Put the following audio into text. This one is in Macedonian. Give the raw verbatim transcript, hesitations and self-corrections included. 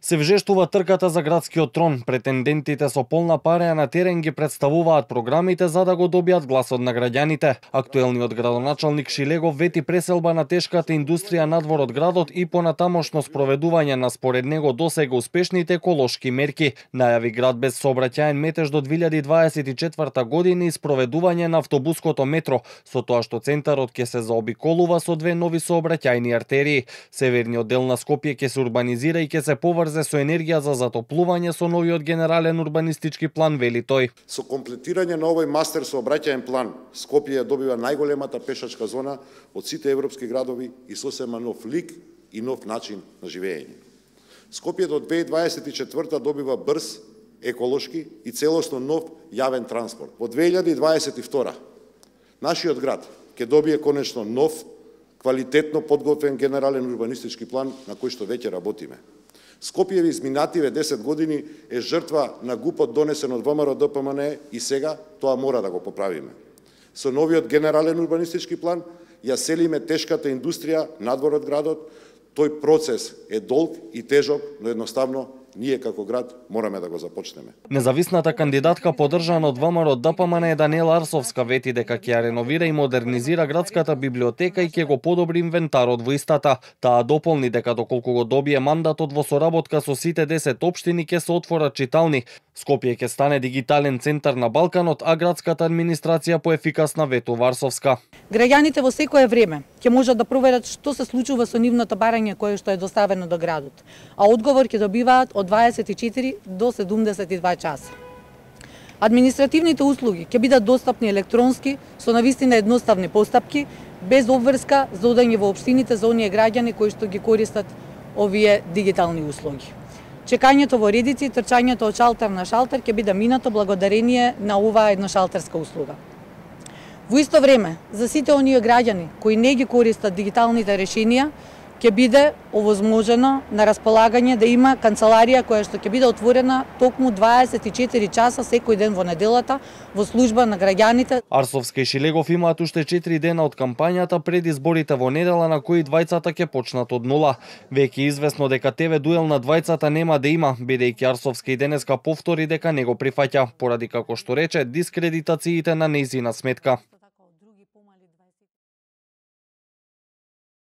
Се вжештува трката за градскиот трон. Претендентите со полна пареја на терен ги представуваат програмите за да го добијат гласот на граѓаните. Актуелниот градоначалник Шилегов вети преселба на тешката индустрија надвор од градот и понатамошно спроведување на според него досега успешните еколошки мерки. Најави град без сообраќаен метеж до две илјади дваесет и четврта година и спроведување на автобуското метро, со тоа што центарот ќе се заобиколува со две нови сообраќајни артерии. Северниот дел на Скопје ќе се урбанизира и ќе се поврзе со енергија за затоплување со новиот генерален урбанистички план, вели тој. Со комплетирање на овој мастер сообраќајен план, Скопје добива најголемата пешачка зона од сите европски градови и сосема нов лик и нов начин на живење. Скопје до две илјади дваесет и четврта добива брз, еколошки и целосно нов јавен транспорт. Во две илјади дваесет и втора нашиот град ќе добие конечно нов, квалитетно подготвен генерален урбанистички план на кој што веќе работиме. Скопје во изминативе десет години е жртва на гупот донесен од ВМРО Д П М Н E и сега тоа мора да го поправиме. Со новиот генерален урбанистички план ја селиме тешката индустрија надвор од градот. Тој процес е долг и тежок, но едноставно ние како град мораме да го започнеме. Независната кандидатка подржана од ВМРО Д П М Н E Даниела Арсовска вети дека ќе ја реновира и модернизира градската библиотека и ќе го подобри инвентарот во истата. Таа дополни дека доколку го добие мандатот во соработка со сите десет општини ќе се отворат читални. Скопје ќе стане дигитален центар на Балканот, а градската администрација поефикасна, ветува Арсовска. Граѓаните во секое време ќе можат да проверат што се случува со нивното барање кое што е доставено до градот, а одговор ќе добиваат од дваесет и четири до седумдесет и два часа. Административните услуги ќе бидат достапни електронски со навистина едноставни постапки, без обврска за одење во општините за оние граѓани кои што ги користат овие дигитални услуги. Чекањето во редици и трчањето од шалтер на шалтер ќе биде минато благодарение на оваа едношалтерска услуга. Во исто време, за сите оние граѓани кои не ги користат дигиталните решенија, ќе биде овозможено на располагање да има канцеларија која што ќе биде отворена токму дваесет и четири часа секој ден во неделата во служба на граѓаните. Арсовска и Шилегов имаат уште четири дена од кампањата пред изборите во недела на кои двајцата ќе почнат од нула. Веќе известно дека Т В дуел на двајцата нема да има, бидејќи Арсовска и денеска повтори дека не го прифаќа, поради како што рече дискредитациите на нејзина сметка.